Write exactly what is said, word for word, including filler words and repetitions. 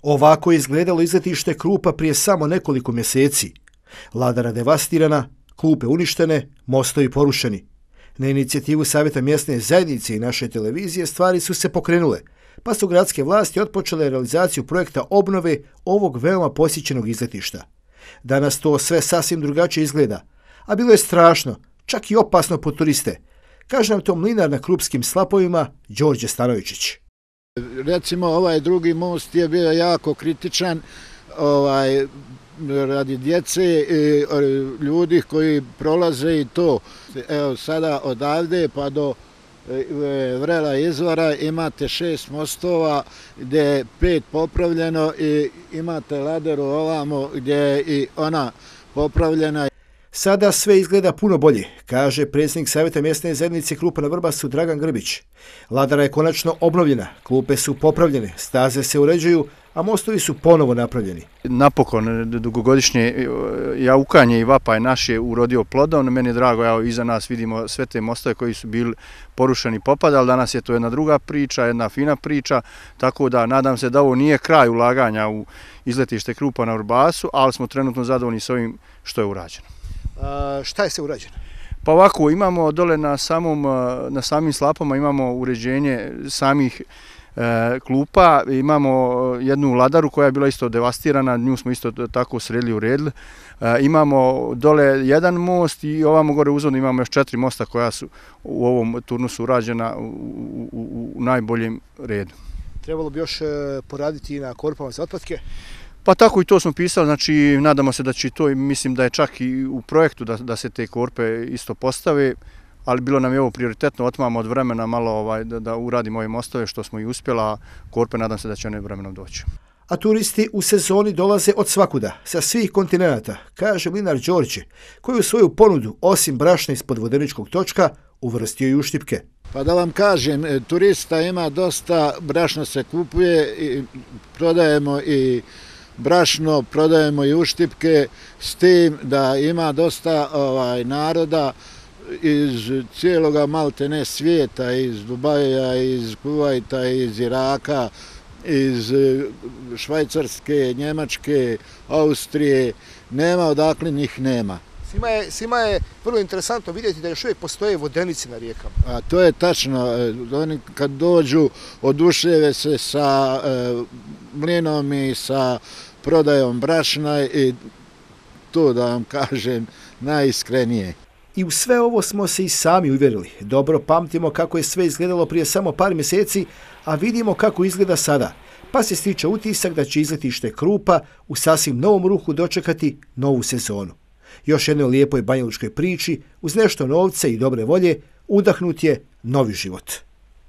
Ovako je izgledalo izletište Krupa prije samo nekoliko mjeseci. Ladara devastirana, klupe uništene, mostovi porušeni. Na inicijativu Savjeta mjesne zajednice i naše televizije stvari su se pokrenule, pa su gradske vlasti otpočele realizaciju projekta obnove ovog veoma posjećenog izletišta. Danas to sve sasvim drugačije izgleda, a bilo je strašno, čak i opasno po turiste. Kaže nam to mlinar na krupskim slapovima Đorđe Stanovičić. Recimo ovaj drugi most je bio jako kritičan ovaj, radi djece i ljudi koji prolaze i to. Evo sada odavde pa do Vrela izvora imate šest mostova gdje je pet popravljeno i imate Ladaru ovamo gdje je i ona popravljena. Sada sve izgleda puno bolje, kaže predsjednik Savjeta mjesne zajednice Krupa na Vrbasu Dragan Grbić. Ladara je konačno obnovljena, klupe su popravljene, staze se uređuju, a mostovi su ponovo napravljeni. Napokon dugogodišnje jaukanje i vapaj naš je urodio plodom. Meni je drago, evo iza nas vidimo sve te mostove koji su bili porušeni i popadali. Danas je to jedna druga priča, jedna fina priča, tako da nadam se da ovo nije kraj ulaganja u izletište Krupa na Vrbasu, ali smo trenutno zadovoljni s ovim što je urađeno. A, šta je se urađeno? Pa ovako, imamo dole na, samom, na samim slapama imamo uređenje samih e, klupa, imamo jednu ladaru koja je bila isto devastirana, nju smo isto tako sredili, uredili. E, imamo dole jedan most i ovamo gore uzvodno imamo još četiri mosta koja su u ovom turnusu urađena u, u, u najboljem redu. Trebalo bi još poraditi i na korpama za otpadke? Pa tako i to smo pisali, znači nadamo se da će to, mislim da je čak i u projektu da, da se te korpe isto postave, ali bilo nam je ovo prioritetno, otmamo od vremena malo ovaj, da, da uradimo ove mostove što smo i uspjela, a korpe nadam se da će one vremenom doći. A turisti u sezoni dolaze od svakuda, sa svih kontinenata, kaže mlinar Đorđe, koji u svoju ponudu, osim brašna ispod vodeničkog točka, uvrstio i uštipke. Pa da vam kažem, turista ima dosta, brašno se kupuje, i prodajemo i brašno, prodajemo i uštipke, s tim da ima dosta ovaj, naroda iz cijeloga maltene svijeta, iz Dubaja, iz Kuvajta, iz Iraka, iz Švajcarske, Njemačke, Austrije, nema odakle njih nema. Svima je, svima je vrlo interesantno vidjeti da još uvijek postoje vodenici na rijekama. A to je tačno. Oni kad dođu oduševe se sa e, mlinom i sa prodajom brašna i to da vam kažem najiskrenije. I u sve ovo smo se i sami uvjerili. Dobro pamtimo kako je sve izgledalo prije samo par mjeseci, a vidimo kako izgleda sada. Pa se stiče utisak da će izletište Krupa u sasvim novom ruhu dočekati novu sezonu. Još jednoj lijepoj banjalučkoj priči, uz nešto novca i dobre volje, udahnut je novi život.